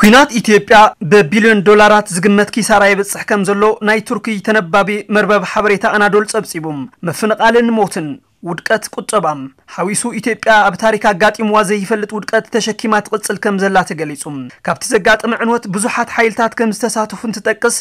ኲናት ኢትዮጵያ ብቢልዮን ዶላራት ዝግመት ኪሳራ የብጽሕ ከም ዘሎ ናይ ቱርኪ ተነባቢ መርበብ ሓበሬታ ኣናዶል ጸብጺቡ። ምፍንቓልን ሞትን፣ ውድቀት ቁጠባም ሓዊሱ፣ ኢትዮጵያ ኣብ ታሪክ ኣጋጢምዋ ዘይፈልጥ ውድቀት ተሸኪማ ትቕጽል ከም ዘላ ተገሊጹ። ካብቲ ዘጋጠመ ዕንወት ብዙሓት ሓይልታት ከም ዝተሳተፉ እንትጠቅስ፣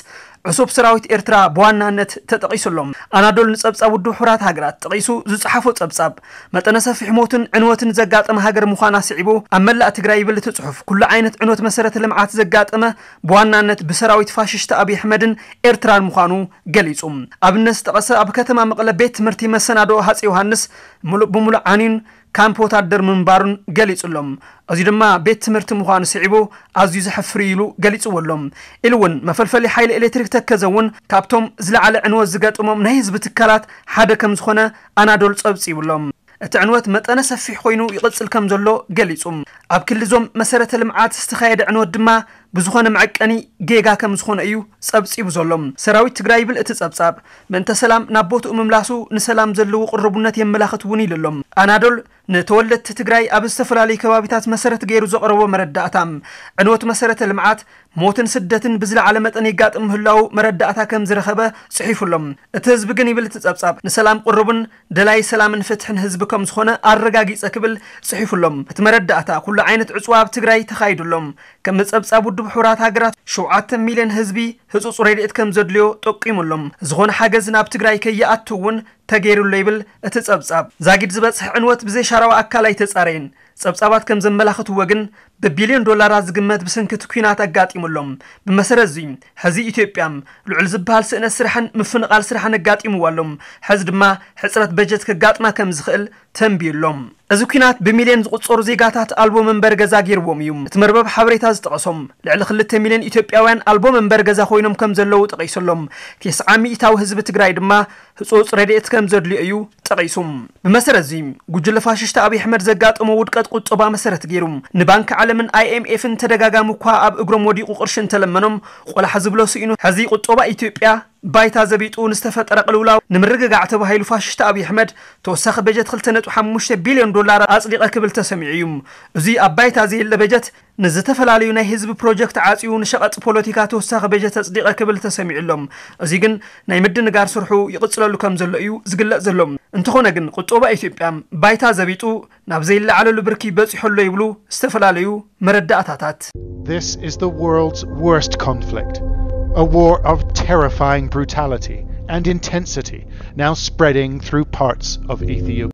ዕሱብ ሰራዊት ኤርትራ ብዋናነት ተጠቒሱ ኣሎ። ኣናዶል ንጸብጻብ ውድብ ሕቡራት ሃገራት ጠቒሱ ዝጸሓፎ ጸብጻብ፣ መጠነ ሰፊሕ ሞትን ዕንወትን ዘጋጠመ ሃገር ምዃና ስዒቡ፣ ኣብ መላእ ትግራይ ይብል እቲ ጽሑፍ፣ ኩሉ ዓይነት ዕንወት መሰረተ ልምዓት ዘጋጠመ ብዋናነት ብሰራዊት ፋሽስት ኣብይ ኣሕመድን ኤርትራን ምዃኑ ገሊጹ። ኣብነት ዝጠቐሰ፣ ኣብ ከተማ መቐለ ቤት ትምህርቲ መሰናዶ ሃፀይ ዮሃንስ ሙሉእ ብሙሉእ ዓንዩን ካምፕ ወታደር ምንባሩን ገሊጹ ኣሎ። እዚ ድማ ቤት ትምህርቲ ምዃኑ ስዒቡ ኣዝዩ ዘሕፍር ኢሉ ገሊጽዎ ኣሎ። ኢሉ እውን መፈልፈሊ ሓይሊ ኤሌክትሪክ ተከዘ እውን ካብቶም ዝለዓለ ዕንወት ዝገጠሞም ናይ ህዝቢ ትካላት ሓደ ከም ዝኾነ ኣናዶል ጸብጺቡ ኣሎ። እቲ ዕንወት መጠነ ሰፊሕ ኮይኑ ይቕጽል ከም ዘሎ ገሊጹ። ኣብ ክልል እዞም መሰረተ ልምዓት ዝተኻየደ ዕንወት ድማ ብዝኾነ መዐቀኒ ጌጋ ከም ዝኾነ እዩ ጸብጺቡ ዘሎ። ሰራዊት ትግራይ ይብል እቲ ጸብጻብ፣ ምእንተ ሰላም ናብ ቦትኡ ምምላሱ ንሰላም ዘለዎ ቅርቡነት የመላኽት እውን ኢሉ ኣሎ። ኣናዶል ንተወለድቲ ትግራይ ኣብ ዝተፈላለዩ ከባቢታት መሰረት ገይሩ ዘቕረቦ መረዳእታ፣ ዕንወት መሰረተ ልምዓት፣ ሞትን ስደትን ብዝለዓለ መጠን የጋጥም ምህላዉ መረዳእታ ከም ዝረኸበ ጽሒፉ ኣሎ። እቲ ህዝቢ ግን ይብል እቲ ጸብጻብ፣ ንሰላም ቅሩብን ደላይ ሰላምን ፍትሕን ህዝቢ ከም ዝኾነ ኣረጋጊጸ ክብል ጽሒፉ ኣሎ። እቲ መረዳእታ ኩሉ ዓይነት ዕጽዋ ኣብ ትግራይ ተኻይዱ ኣሎ። ከም ጸብጻብ ውድብ ሕቡራት ሃገራት ሸውዓተ ሚልዮን ህዝቢ ህጹጽ ረድኤት ከም ዘድልዮ ጠቂሙ ኣሎ። ዝኾነ ሓገዝ ናብ ትግራይ ከይኣቱ እውን ተገይሩ ኣሎ ይብል እቲ ጸብጻብ። ዛጊድ ዝበጽሕ ዕንወት ብዘይ ሻራዊ ኣካል ኣይተጻረየን። ጸብጻባት ከም ዘመላኽትዎ ግን ብቢልዮን ዶላራት ዝግመት ብሰንኪ እቲ ኲናት ኣጋጢሙ ኣሎ። ብመሰረት እዚ ሕዚ ኢትዮጵያ ልዑል ዝበሃል ስእነት ስራሕን ምፍንቓል ስራሕን ኣጋጢምዋ ኣሎ። ሕዚ ድማ ሕጽረት በጀት ከጋጥማ ከም ዝኽእል ተንቢዩ ኣሎ። እዚ ኲናት ብሚልዮን ዝቑጸሩ ዜጋታት ኣልቦ መንበሪ ገዛ ገይርዎም እዩ። እቲ መርበብ ሓበሬታ ዝጠቐሶም ልዕሊ ክልተ ሚልዮን ኢትዮጵያውያን ኣልቦ መንበሪ ገዛ ኮይኖም ከም ዘለዉ ጠቒሱ ኣሎ። ተስዓ ሚእታዊ ህዝቢ ትግራይ ድማ ህጹጽ ረድኤት ከም ዘድልዮ እዩ ጠቒሱ። ብመሰረት እዚ ጉጅለ ፋሽስት ኣብይ ኣሕመድ ዘጋጠሞ ውድቀት ቁጠባ መሰረት ገይሩ ንባንክ ዓለምን ኣይኤምኤፍን ተደጋጋሚ እኳ ኣብ እግሮም ወዲቑ ቅርሺ እንተለመኖም ቆላሕ ዝብሎ ስኢኑ፣ ሕዚ ቁጠባ ኢትዮጵያ ባይታ ዘቢጡ ንዝተፈጠረ ቅልውላው ንምርግጋዕ ተባሂሉ ፋሽስት ኣብይ ኣሕመድ ተወሳኺ በጀት ክልተ ነጥቢ ሓሙሽተ ቢልዮን ዶላር ኣጽዲቐ ክብል ተሰሚዑ እዩ። እዚ ኣብ ባይታ ዘየለ በጀት ንዝተፈላለዩ ናይ ህዝቢ ፕሮጀክት ዓጽዩ ንሸቐጥ ፖለቲካ ተወሳኺ በጀት ኣጽዲቐ ክብል ተሰሚዑ ኣሎ። እዚ ግን ናይ ምድንጋር ስርሑ ይቕጽለሉ ከም ዘሎ እዩ ዝግለጽ ዘሎ። እንተኾነ ግን ቁጠባ ኢትዮጵያ ባይታ ዘቢጡ ናብ ዘይለዓለሉ ብርኪ በጺሑ ኣሎ ይብሉ ዝተፈላለዩ መረዳእታታት። This is the world's worst conflict, a war of terrifying brutality and intensity now spreading through parts of Ethiopia.